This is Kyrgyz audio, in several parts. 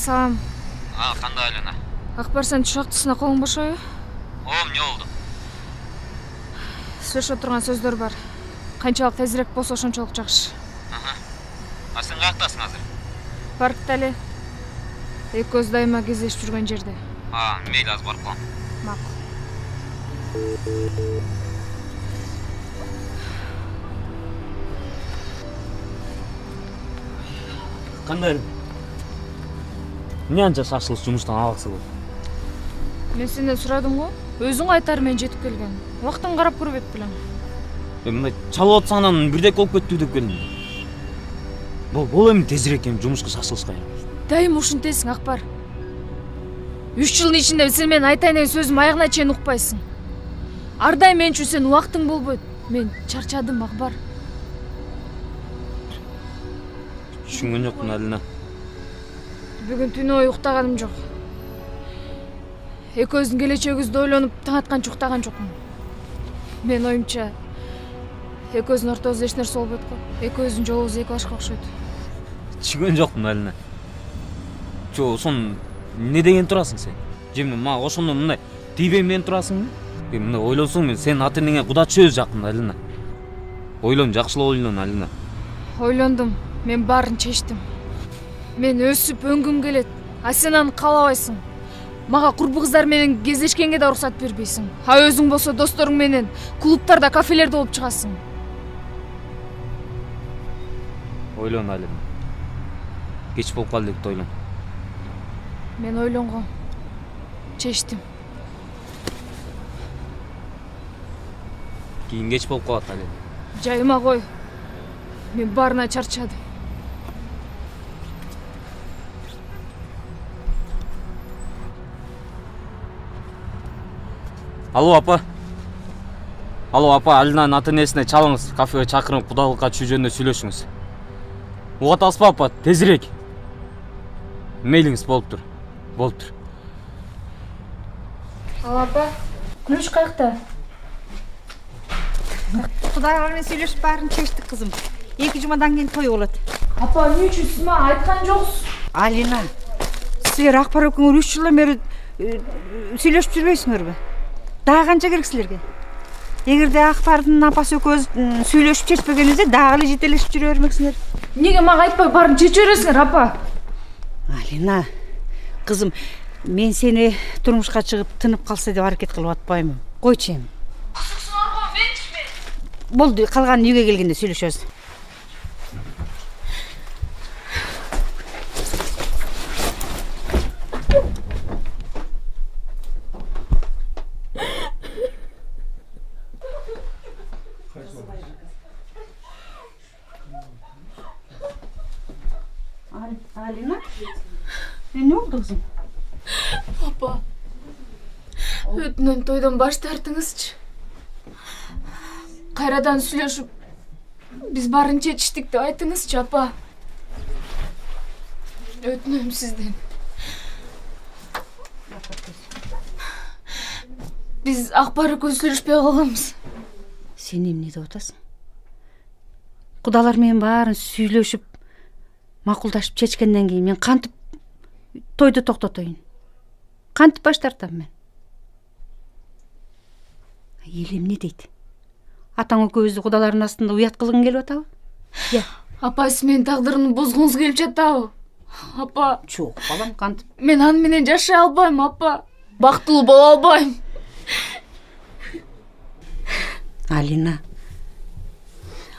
салам. Кандай Алина? Акбар, сен түш актысына колуң бошойбу? Эмне болду? Сүйлөшө турган сөздөр бар. Канчалык тезирээк болсо ошончолук жакшы. Сен каяктасың азыр? Паркта эле. Экөөбүз дайыма кездешип жүргөн жерде. Мейли, азыр барып калам. Макул. Кандай? Эмне анча шашылыш жумуштан алаксы болду? Мен сенден сурадым го. Өзүң айтар мен жетип келген. Убактын карап көрбөйт белең. Мындай чалып атсаң анан бирдек болуп кеттү деп келдим. Бул эми тезирээк жумушка шашылышка. Дайым ушинтесиң, Акбар. 3 жылдын ичинде сен менин айтайын деген сөзүм аягына чейин укпайсың. Ар дайым мен үчүн сен убактың болбойт. Мен чарчадым, Акбар. Түшүнгөн жокмун, Алина. Бүгүн түнү бою уктаганым жок. Экөөбүздүн келечегибизди ойлонуп таң атканча уктаган жокмун. Мен оюмча экөөбүздүн ортобузда эч нерсе болбойт го. Экөөбүздүн жолубуз эки башка окшойт. Түшүнгөн жокмун, Алина. Ошон эмне деген турасың сен? Жемне мага ошондон мындай тийбейм деген турасыңбы? Мындай ойлосоң мен сенин ата энеңе куда чөз жакын, Алина. Ойлон, жакшылап ойлон, Алина. Ойлондум. Мен баарын чечтим. Мен өсүп өңгүм келет. А сен аны каалабайсың. Мага курбу кыздар менен кездешкенге да уруксат бербейсиң. А өзүң болсо досторуң менен клубтарда, кафелерде болуп чыгасың. Ойлон, Алина. Кеч болуп калды деп ойлон. Мен ойлонгом. Чечтим. Кийин кеч болуп калат, Алина. Жайыма кой. Мен баарына чарчадым. Алло, апа. Алло, апа, Алинанын ата энесине чалыңыз, кафеге чакырып кудалыкка түшүү жөнүндө сүйлөшүңүз. Угат алсызбы, апа? Тезирээк. Мейлиңиз болуптур. Болуптур. Ал апа, Күлүш каякта? Кудайлар менен сүйлөшүп баарын чечтик, кызым. 2 жумадан кийин той болот. Апа, эмне үчүн сиз мага айткан жоксуз? Алина, силер Акбар экөөңөр 3 жылдан бери сүйлөшүп жүрбөйсүңөрбү? Дагы канча керек силерге? Эгерде Акбардын апасы экөөбүз сүйлөшүп чечпегенибизде дагы эле жетелешип жүрө бермексиңер. Эмнеге мага айтпай баарын чечип бересиңер, апа? Алина, кызым, мен сени турмушка чыгып тынып калса деп аракет кылып атпаймын. Койчу эми. Болду, калганын үйгө келгенде сүйлөшөбүз. Алина, эмне болду кызым? Апа, өтүнөм тойдон баш тартыңызчы. Кайрадан сүйлөшүп, биз баарын чечиштик деп айтыңызчы, апа. Өтүнөм сизден. Биз Акбар экөөбүз сүйлөшпөй калганбыз. Сен эмне деп атасың? Кудалар менен баарын сүйлөшүп, макулдашып чечкенден кийин мен кантип тойду токтотоюн? Кантип баш тартам мен? Эл эмне дейт? Атаң экөөбүздү кудалардын астында уят кылгың келип атабы? Апа, сиз менин тагдырымды бозгуңуз келип жатабы? Апа, Жок, балам, кантип? мен аны менен жашай албайм, апа. Бактылуу боло албайм. Алина,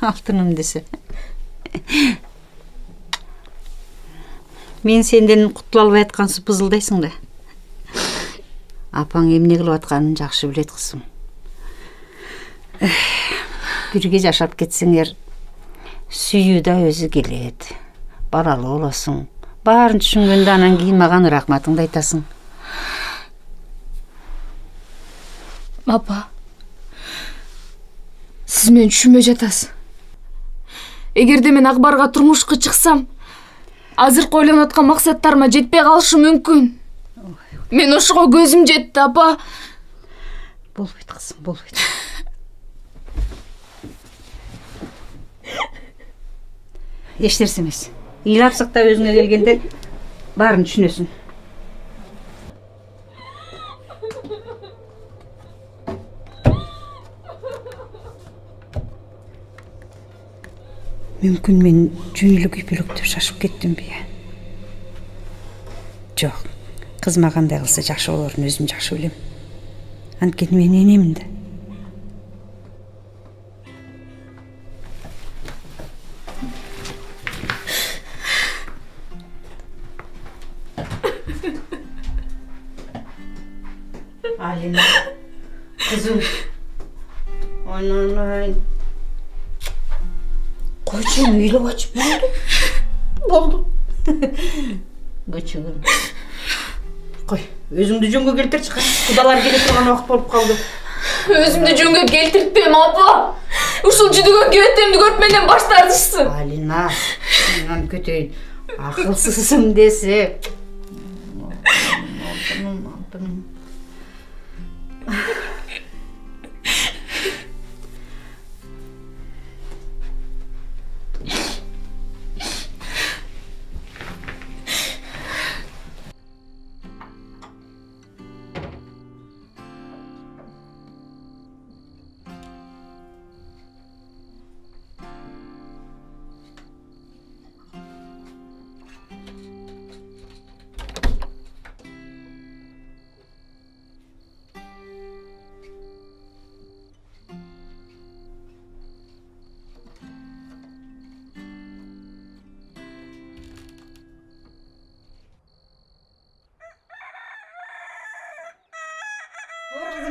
алтыным десе. Мен сенден кутула албай аткансып бызылдайсың да. Апаң эмне кылып атканын жакшы билет, кызым. Бирге жашап кетсеңер, сүйүү да өзү келет. Баралуу болосуң. Баарын түшүнгөндө анан кийин мага рахматыңды айтасың. Апа, сиз мени түшүнбөй жатасыз. Эгерде мен Акбарга турмушка чыксам, азыркы ойлонуп аткан максаттарыма жетпей калышы мүмкүн. Мен ошого көзүм жетти, апа. Болбойт, кызым, болбойт. Эч нерсе эмес. Ыйлап сыктап өзүңө келгенде баарын түшүнөсүң. Мүмкүн мен жөн эле күйпөлөктөп шашып кеттимби? Жок. Кыз мага кандай кылса жакшы болорун өзүм жакшы билем. Анткени мен энемин да. Алина, кызым. Ой. Койчу, үйлөп ачып болду. Көчөгүм. Кой, өзүңдү жөнгө келтирчи. Кудалар келе турган убакыт болуп калды. Өзүмдү жөнгө келтиртпейм, апа. Ушул жүдөгөн кебеттеримди көрүп менден баш тартышсын. Алина, мен көтөйүн. Акылсызсың десе.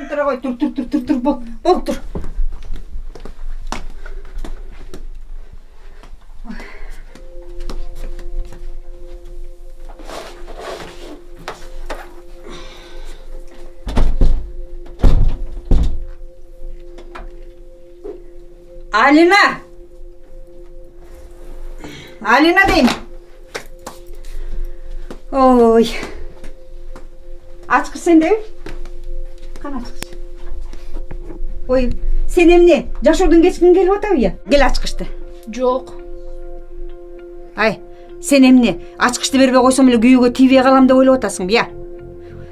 Тура кой, тур, бол, тур. Алина дейм. Ой. Ачкыч сенде? Кана ачкыч. Ой, сен эмне? Жашоодон кечкиң келип атабы? Кел ачкычты. Жок. Ай, сен эмне? Ачкычты бербей койсом эле күйөөгө тийбей калам деп ойлоп атасыңбы?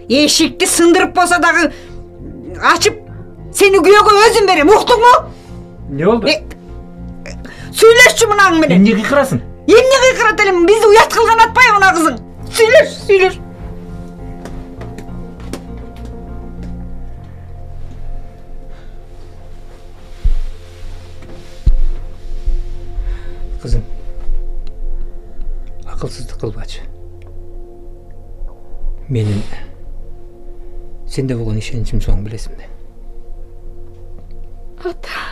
Эшикти сындырып болсо дагы ачып, сени күйөөгө өзүм берем, уктуңбу? Не болду? Сүйлөшчү мунаң менен. Эмне кыйкырасың? Эмне кыйкырат элем? Бизди уят кылган атпайбы мына кызың? Сүйлөш. Кызым, акылсыздык кылбачы. Менин сенде болгон ишеничим соң билесиң да. Ата.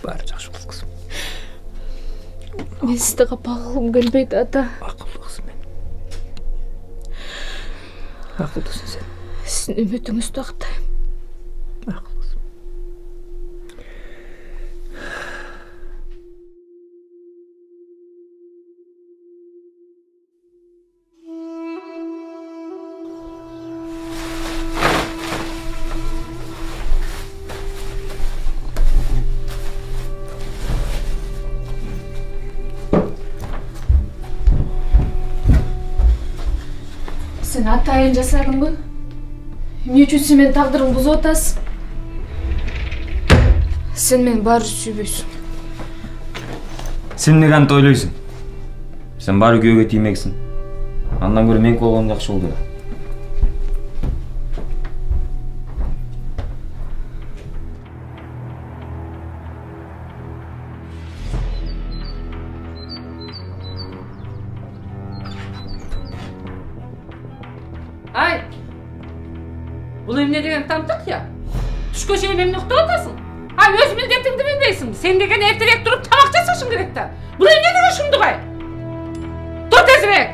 Баары жакшы болот кызым. Мен сизди капа кылгым келбейт, ата. Акылдуу кызым мен. Акылдысың сен. Сиздин үмүтүңүздү актайм. Акылдысың. Сен атайын жасадыңбы? Эмне үчүн сен менин тагдырымды бузуп атасың? Сен мени баары сүйбөйсүң. Сен эмне кантип ойлойсуң? Сен баары күйөөгө тиймексиң. Андан көрө меники болгон жакшы болду. Ай, бул эмне деген тамтык я? Түшкө чейин эмне уктап атасың? Ай, өз милдетиңди билбейсиң. Сен деген эртерээк туруп тамак жасашың керек да. Бул эмне деген шумдук ай? Тур тезирээк.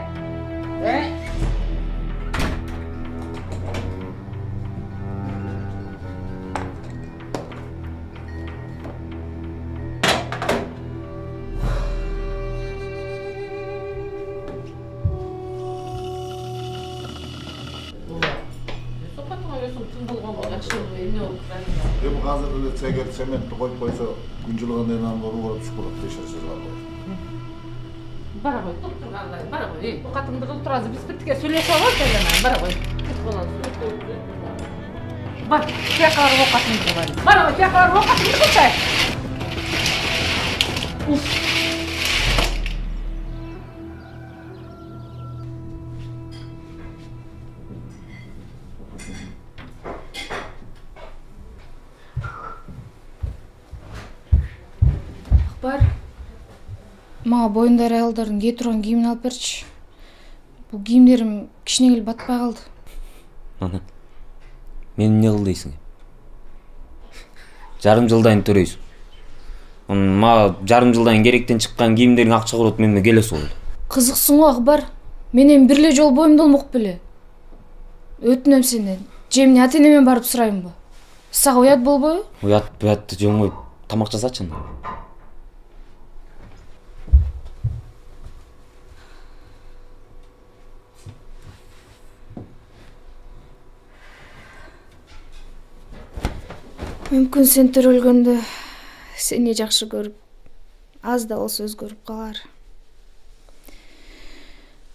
Сопатыңа өсүң түн болгон болду. жакшы эмне болуп жатат? Эми азыр эле эгер цементти коюп койсо, күн жылыгандан кийин анын барып түшүп калат дешер сөз бар го. Бара кой, тургандай, бара кой. Катыңды кылып турасың, биз биртике сүйлөшүп алабыз эле, бара кой. Бар, тияка барып окатыңды кылайын. Бара кой, тияка барып окатыңды кылчай. Бар. Мага боюндар аялдардын кие турган кийимин алып берчи. Бул кийимдерим кичине келип батпай калды. Ана. Мени эмне кыл дейсиң? Жарым жылдан төрөйсүң. Мага жарым жылдан керектен чыккан кийимдерин акча курут менен келесиз болду. Кызыксың го Акбар. Мен эми бир эле жолу боюмду болмок беле. Өтүнөм сенден. Же эмне ата-энеме барып сурайынбы? Сага уят болбойбу? Уят жоңой тамак жасачы анда. Мүмкүн сен төрөлгөндө сени жакшы көрүп, аз да болсо өзгөрүп калар.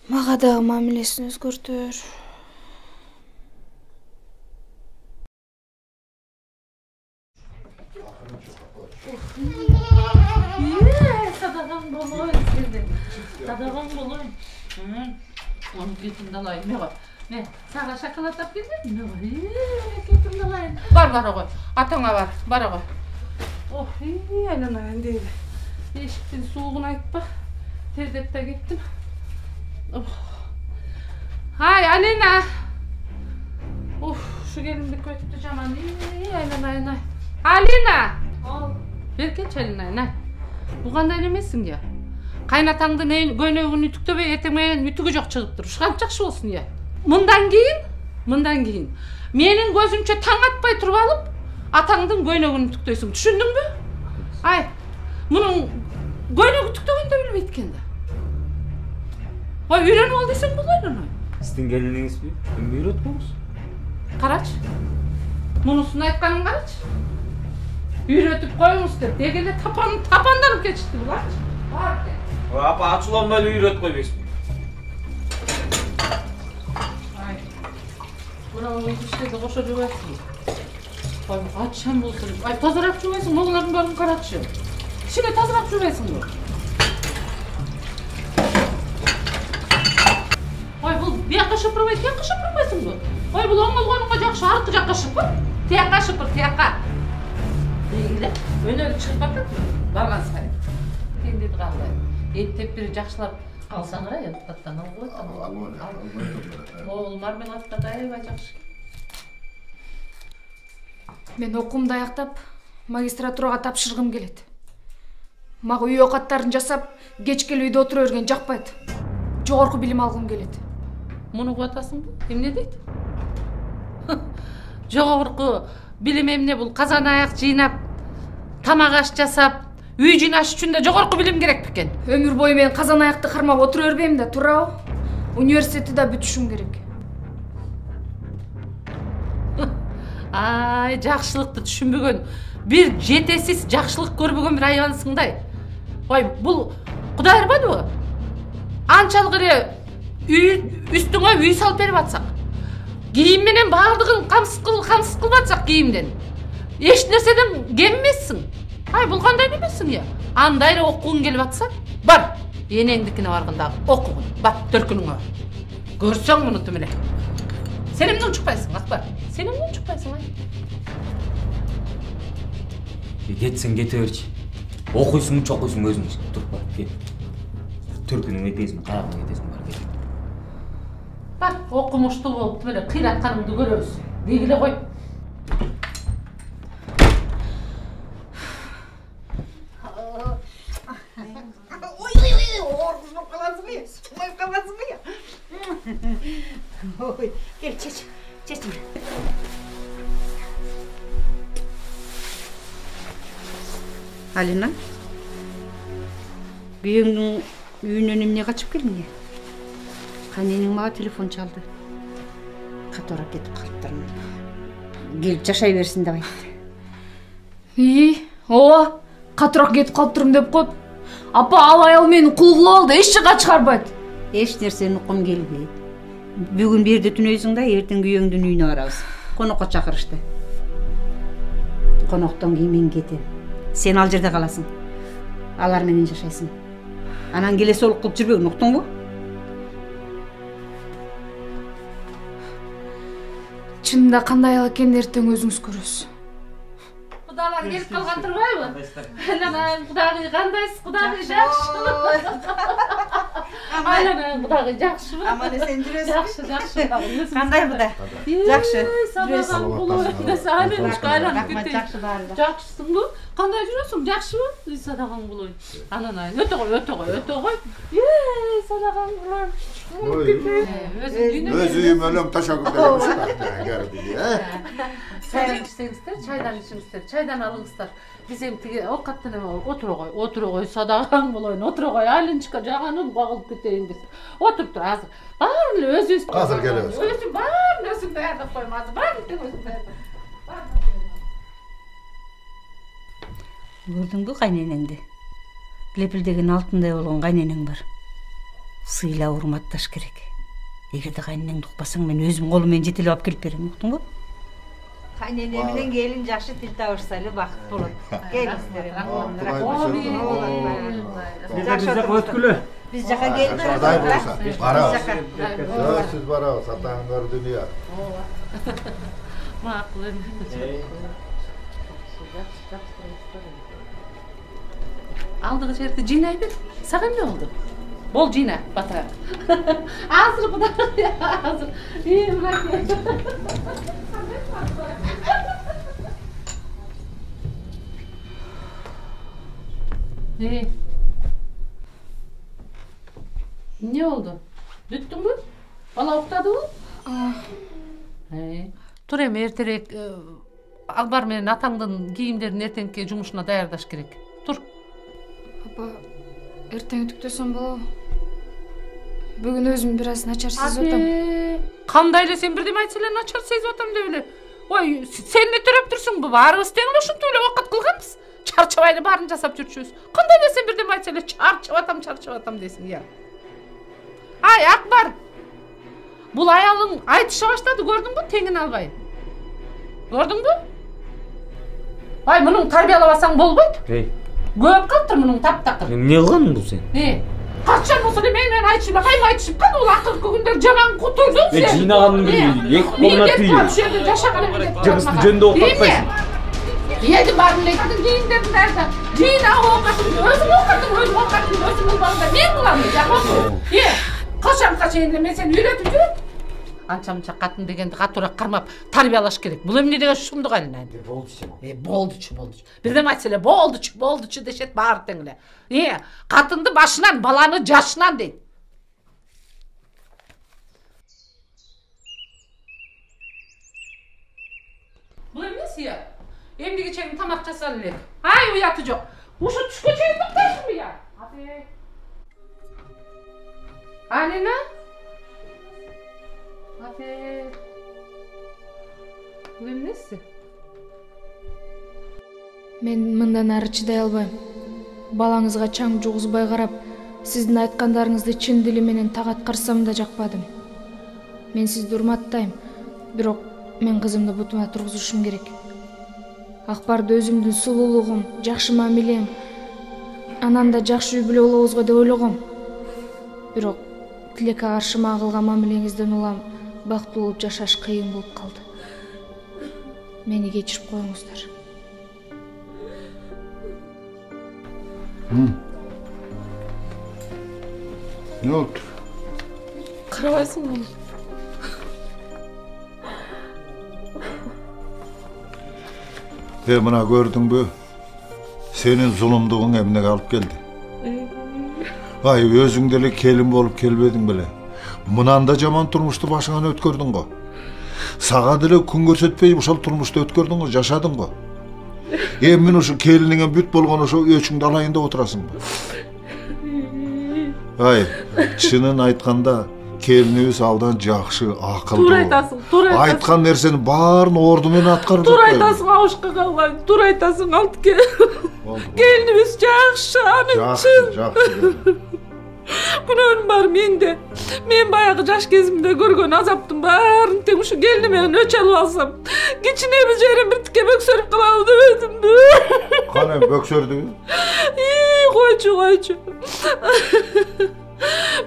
Мага дагы мамилесин өзгөртөр. Садаган болойн сенден. Садаган болойн. Onu кетимди алайын. Эмне бар? Не, сага шоколад алып келдим. Эмне бар? Кетимди алайын. Бар, бара кой. Атаңа бар, бара кой. Ох, айланайын дейли. Эшиктин суугун айтпа. Тердеп да кеттим. Ай, Алина. Ушу келинди көттү жаман. Айланайын ай. Алина. Беркечи Алина. Бу кандай немесиң я? Кайнатаңдын көйнөгүн үтүктөбөй эртең менен үтүгү жок чыгыптыр. Ушканча жакшы болсун я. Мындан кийин менин көзүмчө таң атпай туруп алып, атаңдын көйнөгүн үтүктөйсүң. Түшүндүңбү? Ай, мунун көйнөк үтүктөгөндү билбейт экен да. Ой, үйрөнүп ал десең болот эле. Сиздин келиниңизби? Эмне үйрөтпөңүз? Карачы. Мунусун айтканын карачы. Үйрөтүп коюңуз деп дегеле тапанданып кетишти буларчы. Бар экен. Апа ачууланбай эле үйрөтүп койбойсузбу? Ай. Мына иштерди кошо жубайсың. Ай, ачам болсун. Ай, тазараак жубайсың, могалардын баарын карачы. Кичине тазараак жубайсыңбы? Ой, бул бияка шыпырбай, тияка шыпырбайсыңбы? Ой, бул оңолгонуңга жакшы, аркы жакка шыпыр. Тияка шыпыр, тияка. Дегиле, өнөр чыгып атат. Барган сайын. Кендиди кандай? Эттеп бир жакшылап алсаңар, аттан алып коет. Ол мармеладка да аябай жакшы. Мен окуумду аяктап, магистратурага тапшыргым келет. Мага үй окаттарын жасап, кечкели үйдө отура берген жакпайт. Жогорку билим алгым келет. Муну угуп атасыңбы? Эмне дейт? Жогорку билим эмне бул? Казан аяк жыйнап, тамак аш жасап, үй жыйнаш үчүн да жогорку билим керек бекен. Өмүр бою мен казан аякты кармап отура бербейм да, туурабы? Университетти да бүтүшүм керек. Ай, жакшылыкты түшүнбөгөн, бир жетесиз жакшылык көрбөгөн бир аябансыңдай. Ой, бул Кудай ырбадыбы? Анчалык эле үстүңө үй салып берип атсак, кийим менен баардыгын камсыз кылып атсак кийимден, эч нерседен кем эмессиң. Ай, бул кандай немесиң я? Андай эле окугуң келип атса, бар, энеңдикине барганда окугун, бак төркүнүңө. Көрсөң мунуту менен. Сен эмне учукпайсың, Акбар? Сен эмне учукпайсың, ай? Кетсең кете берчи. Окуйсуң, чокуйсуң өзүң. Туруп бар, кет. Төркүнүң этесиң, карагың этесиң бар, кет. Бар, окумуштуу болуп эле кыйратканыңды көрөбүз. Дегиле кой. Ой, кел, чеч. Алина, күйөөңдүн үйүнөн эмне качып келдиң? Кайненең мага телефон чалды. Катуураак кетип калыптырмын. келип жашай берсин деп айтты. ооба, катыраак кетип калыптырмын деп коет. Апа, ал аял мени кул кылып алды, эч жака чыгарбайт. Эч нерсени уккум келбейт. Бүгүн бу жерде түнөйсүң да, эртең күйөөңдүн үйүнө барабыз. Конокко чакырышты. Коноктон кийин мен кетем. Сен ал жерде каласың. Алар менен жашайсың. Анан келесі олук кылып жүрбөгүн, уктуңбу? Чынында кандай аял экенин эртең өзүңүз көрөсүз. Кудалар келип калган турбайбы? Анан кудагый кандайсыз? Кудагый жакшыбы? Анан кудагый жакшыбы? Аман эсен жүрөсүң. Жакшы. Кандай куда? Жакшы. Сабаган кулой. Саламатчылык айланып кетти. Жакшы баары. Жакшысыңбы? Кандай жүрөсүң? Жакшыбы? Садаган кулой. Анан өтө кой. Садаган кулой. Өз үйүм өлөң ташагүлдө. Чайдан içsеңиздер, чайдан içиңиздер, чайдан алыңыздар. Биз эми тиги овкаттан эме отура кой, садаган болоюн, отура кой, айлынчыкка жаганын кагылып кетейин десе. Отуруп тур азыр. Баарын эле өзүбүз. Азыр келебиз. Өзүм баарын өзүм даярдап коем азыр. Баарын өзүм даярдап. Көрдүңбү кайненеңди? Лепилдеген алтындай болгон кайненең бар. Сыйлап урматташ керек. Эгерде кайненеңди укпасаң, мен өзүм колум менен жетелеп алып келип берем, уктуңбу? Кайнене менен келин жакшы тил табышса эле бакыт болот. Келиңиздер. Биз жака өткүлө. Биз жака келип Барабыз. Сиз барабыз, атаң көрдүн я. Макул эми. Алдыгы жерди жыйнай бер. Сага эмне болду? Бол жыйна, батыр. Азыр кудай, азыр. Мырак. Не oldu? Бүттүңбү? Бала уктадыбы? Тур эми эртерээк Албар менен атаңдын кийимдерин эртеңки жумушуна даярдаш керек. Тур. Апа, эртең үтүктөсөм болобу? Бүгүн өзүм бир аз начар сезип атам. Кандай эле сен бирдеме айтса эле начар сезип атам деп эле. Ой, сен эле төрөп турсуңбу? Баарыбыз тең эле ушинтип эле убакыт кылганбыз. Чарчабай эле баарын жасап жүрчүбүз. Кандай эле сен бирдеме айтса эле чарчап атам дейсиң, я. Ай, Акбар. Бул аялың айтыша баштады, көрдүңбү? Теңин албай. Көрдүңбү? Ай, мунун тарбиялабасаң болбойт. Көп калыптыр мунун таптакыр. Эмне кылганың бул сен? Качан болсо эле менен айтышып, кайма айтышып калды, бул акыркы күндөр жаман кутурдуң сен. Жыйнаганың эки колуна түйүп. Жашаган эле. Жыгысты жөндө окутпайсың. Эди барын эле кийимдердин даярда. Жыйна окатың, өзүң окатың, балдар. Мен кылам, жакшы. Качанга чейин мен сени үйрөтүп жүрөм. Анча-мынча катын дегенди катуураак кармап тарбиялаш керек. Бул эмне деген шумдук айланайын. Болдучу. Бирдеме айтса эле болдучу дешет баары тең эле. Катынды башынан, баланы жашынан дейт. Бул эмнеси я? Эмнеге чейин тамак жасал элек. Ай, уяты жок. Ушу түшкө чейин токтойсуңбу я? Алина? Бул эмнеси? Мен мындан ары чыдай албайм. Балаңызга чаң жугузбай карап, сиздин айткандарыңызды чын дили менен так аткарсам да жакпадым. Мен сизди урматтайм, бирок мен кызымды бутума тургузушум керек. Акбарды өзүмдүн сулуулугум, жакшы мамилем, анан да жакшы үй бүлө болобузго деп ойлогом. Бирок тилекке каршы мага кылган мамилеңизден улам бактылуу болуп жашаш кыйын болуп калды. Мени кечирип коюңуздар. Ne oldu? Карабайсыңбы? Мына көрдүңбү? Сенин зулумдугуң эмнеге алып келди? Ай, өзүң деле келин болуп келбедиң беле? Мынан да жаман турмушту башыңан өткөрдүң го. Сага деле күн көрсөтпөй ушул турмушту өткөрдүң го, жашадың го. Эми ушу келиниңе бүт болгон ошо өчүңдү алайын деп отурасыңбы? Ай, чынын айтканда, келинибиз абдан жакшы, акылдуу. Туура айтасың, туура айтасың. Айткан нерсенин баарын орду менен аткарып Туура айтасың, Абышка калган. Туура айтасың, Алтыке. Келинибиз жакшы, анын чын. Жакшы. Күнөөнүм бар менде. Мен баягы жаш кезимде көргөн азаптын баарын тең ушу келиnim менен өч алып алсам, кичине бир жерим биртикке бөксөрүп калабы дебедимби? Кана бөксөрдүбү? Койчу.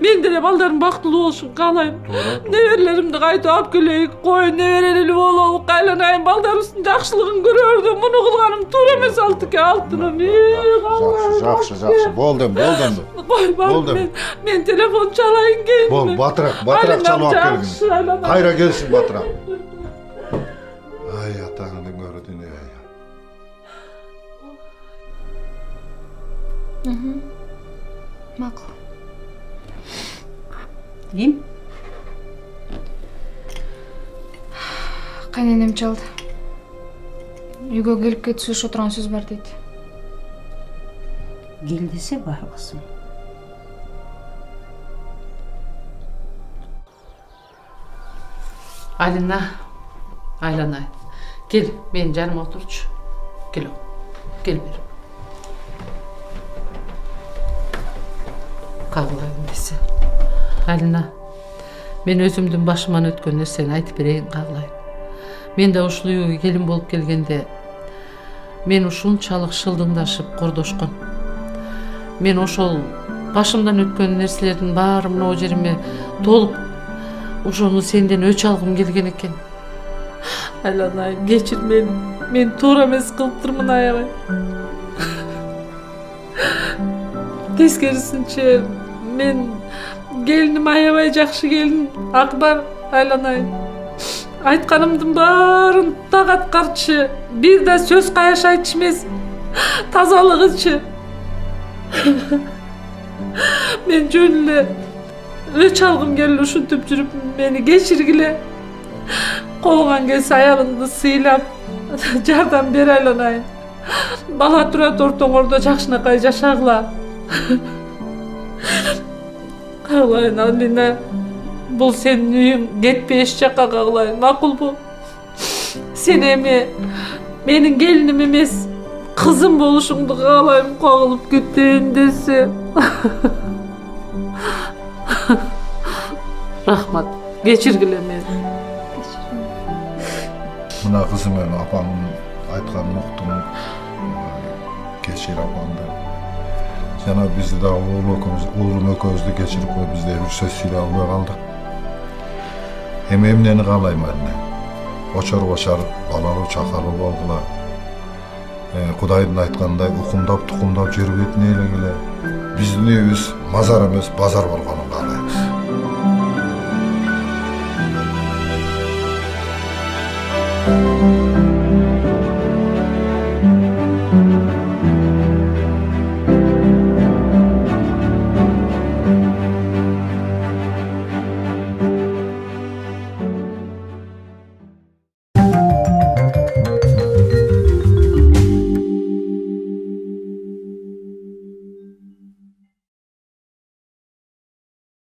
Мен деле балдарым бактылуу болушун каалайм. Неберелеримди кайтып алып келейик, кой неберелүү бололук, айланайын, балдарыбыздын жакшылыгын көрөрдү. Муну кылганым туура эмес, Алтыке, алтыным. Жакшы. Болдум. Кой, мен телефон чалайын келдим. Бол, батыраак чалып алып келгин. Кайра келсин батыраак. Ай, атаңдын көрүдүн. Макул. Ким? Кайненем чалды. Үйгө келип кетип сүйлөшө турган сөз бар дейт. Кел десе барбысың. Алина, айланайын. Кел, менин жаныма отурчу. Кел бер. Кагылайын десе. Алина, мен өзүмдүн башыман өткөн нерсени айтып берейин, кагылайын. Мен да ушул үйгө келин болуп келгенде мен ушунчалык шылдыңдашып кордошкон. Мен ошол башымдан өткөн нерселердин баары мына жериме толуп, ошону сенден өч алгым келген экен. Айланайын, кечир мени. Мен туура эмес кылыптырмын, аябай. Тескерисинче, мен келиним аябай жакшы келин, Акбар, айланайын. Айтканымдын баарын так аткарчы, бир да сөз каяшайтчы эмес, тазалыгычы. Мен жөн эле өч алгым келип ушинтип жүрүп, мени кечиргиле. Колуңан келсе аялыңды сыйлап, жардам бер, айланайын. Бала турат ортоңордо жакшынакай жашагыла. Кагылайын, Алина. Бул сенин үйүң, кетпе эч жакка, кагылайын, макулбу? Сен эми менин келиним эмес, кызым болушуңду каалайм, кагылып кетейин десе. Рахмат, кечиргиле мени. Мына кызым эми апаңдын айтканын уктум. Кечир апаңды. Жана бизди да уулум экөөбүздү кечирип коюп, бизде бир сөз сүйлөй албай калдык. Эми эмнени каалайм эле? Очор балалуу чакалуу болгула. Кудайдын айткандай укумдап тукумдап жүрүп этине элегиле. Биздин үйүбүз мазар эмес, базар болгонун каалайбыз.